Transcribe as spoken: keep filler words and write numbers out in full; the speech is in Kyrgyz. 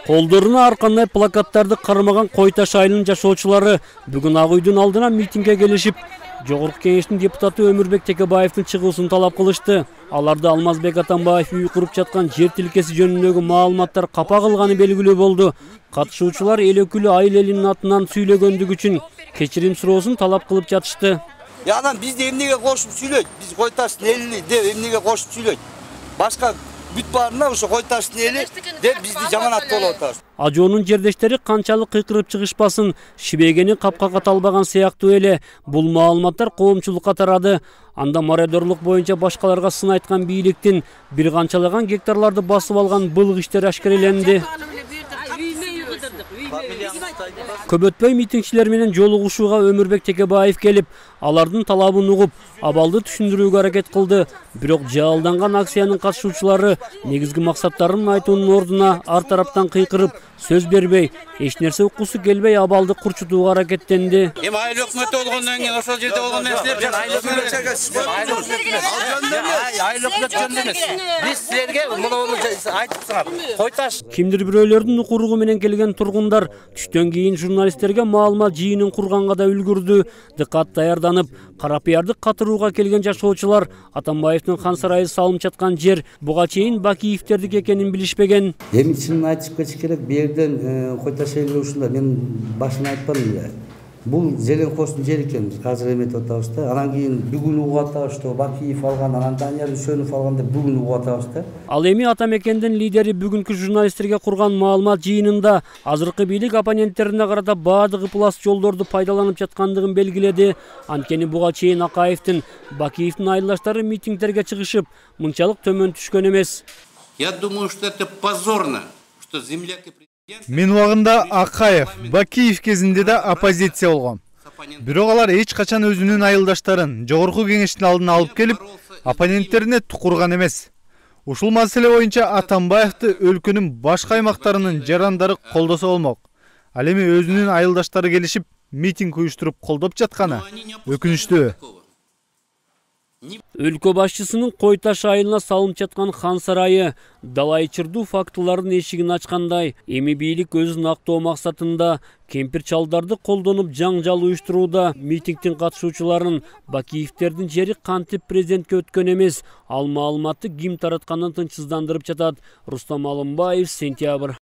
Колдоруна ар кандай плакаттарды кармаган Кой Таш айылынын жашоочулары бүгүн Ак үйдүн алдына митингге келишип, Жогорку Кеңештин депутаты Өмүрбек Текебаевдин чыгуусун талап кылышты. Аларды Алмазбек Атамбаев үй куруп жаткан жер тилкеси жөнүндөгү маалыматтар капа кылганы белгилүү болду. Катышуучулар эл өкүлү айыл элинин атынан сүйлөгөндүгү үчүн кечирим суроосун талап кылып жатышты. Анан бизди эмнеге кошуп сүйлөйт? Биз Кой Таштын элини деп эмнеге кошуп сүйлөйт? Башка бүт баарына ошо Кой Таштын эли деп бизди жаманат болуп атат. Ажоонун жердештери канчалык кыйкырып чыгышпасын, шибегени капкага талбаган сыяктуу эле бул маалыматтар коомчулукка тарады. Анда мародерлук боюнча башкаларга сын айткан бийликтин бир канчалаган гектарларды басып алган былык иштери ашкереленди. Көп өтпөй митингчилер менен жолугушууга Өмүрбек Текебаев келип, алардын талабын угуп, абалды түшүндүрүүгө аракет кылды. Бирок жаалданган акциянын катышуучулары негизги максаттарын айтуунун ордуна ар тараптан кыйкырып, сөз бербей, эч нерсе уккусу келбей абалды курчутууга аракеттенди. Эми айыл өкмөтү болгондон кийин ошол жерде болгон нерселер жана айыл өкмөт жөнүндө эмес. Биз силерге муну айтып сыңар. Кой Таш. Кимдир бирөөлөрдүн укуругу менен келген тургундар түштөн кийин журналисттерге маалымат жыйынын курганга да үлгүрдү. Дыкат даярданып, Карапыярды катырууга келген жашоочулар Атамбаевдин хан сарайы салынып жаткан жер буга чейин Бакиевтердики экенин билишпеген. Эми чынын айтып кетиш керек, бу жерден Кой Таш эли ушунда мен башын айтпадым эле. Бул Зеленкостун жери экен, азыр эметип атабыз да. Анан кийин бүгүн угуп атабыз, что Бакиев алган, анан Данияр Үсөнов алган деп бүгүн угуп атабыз да. Ал эми Атамекендин лидери бүгүнкү журналисттерге курган маалымат жыйынында азыркы бийлик оппоненттерине карата баардык ыплас жолдорду пайдаланып жаткандыгын белгиледи. Анткени буга чейин Акаевдин, Бакиевдин айылдаштары митингдерге чыгышып, мынчалык төмөн түшкөн эмес. Я думаю, что это позорно, что земляк и Мен убагында Акаев, Бакиев кезинде да оппозиция болгон. Бирок алар эч качан өзүнүн айылдаштарын Жогорку Кеңештин алдына алып келип, оппоненттерине тукурган эмес. Ушул маселе боюнча Атамбаевди өлкөнүн башка аймактарынын жарандары колдосо болмок. Ал эми өзүнүн айылдаштары келишип, митинг уюштуруп колдоп жатканы өкүнүчтүү. Өлкө башчысынын Кой Таш айылына салынып жаткан хан сарайы далай чырдуу фактылардын эшигин ачкандай, эми бийлик өзүн актоо максатында кемпир чалдарды колдонуп жаңжал уюштурууда. Митингдин катышуучуларын Бакиевтердин жери кантип президентке өткөн эмес, ал маалыматты ким таратканын тынчсыздандырып жатат. Рустам Алымбаев, Сентябрь.